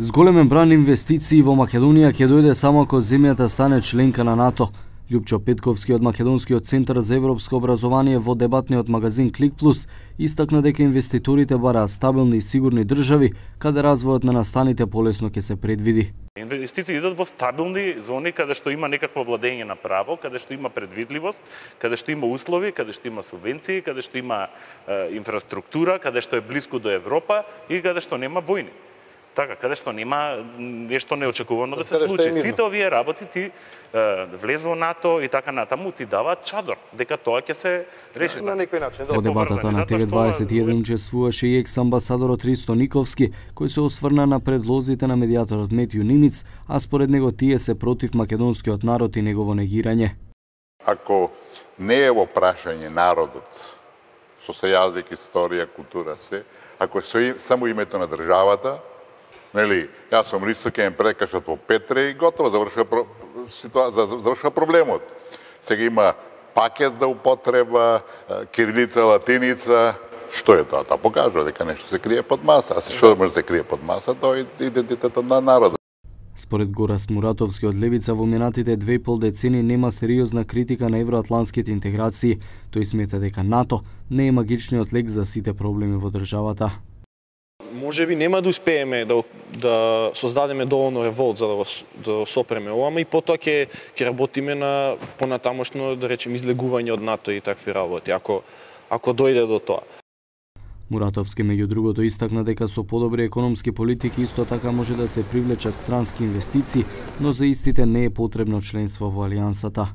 Зголемен бран инвестиции во Македонија ќе дојде само ако земјата стане членка на НАТО. Љупчо Петковски од Македонскиот центар за европско образование во дебатниот магазин Клик Плюс истакна дека инвеститорите бараат стабилни и сигурни држави каде развојот на настаните полесно ќе се предвиди. Инвестиции идат во стабилни зони каде што има некакво владење на право, каде што има предвидливост, каде што има услови, каде што има субвенции, каде што има инфраструктура, каде што е блиску до Европа и каде што нема војни. Така, каде што нема нешто неочекувано да се случи. Сите овие работи ти влез во НАТО и така натаму ти даваат чадор дека тоа ќе се реши на некој начин. Во дебатата на ТВ21 учествуваше и екс-амбасадорот Ристо Никовски, кој се осврна на предлозите на медијаторот Метју Нимиц, а според него тие се против македонскиот народ и негово негирање. Ако не е во прашање народот, со се јазик, историја, култура се, ако е само името на државата, нели, јас сум Ристо, ќе ме прекажат во Петре и готово, завршува проблемот. Сега има пакет да употреба, кирилица, латиница. Што е тоа? Тоа покажува дека нешто се крие под маса. А што може да се крие под маса? Тоа е идентитетот на народот. Според Горас Муратовски од Левица, во минатите 2,5 децени нема сериозна критика на евроатлантските интеграции. Тој смета дека НАТО не е магичниот лек за сите проблеми во државата. Може би нема да успееме да создадеме доволно револт за да сопреме ова, ама и потоа ќе работиме на понатамошно, да речем, излегување од НАТО и такви работи, ако дојде до тоа. Муратовски меѓу другото истакна дека со подобри економски политики исто така може да се привлечат странски инвестиции, но за истите не е потребно членство во алијансата.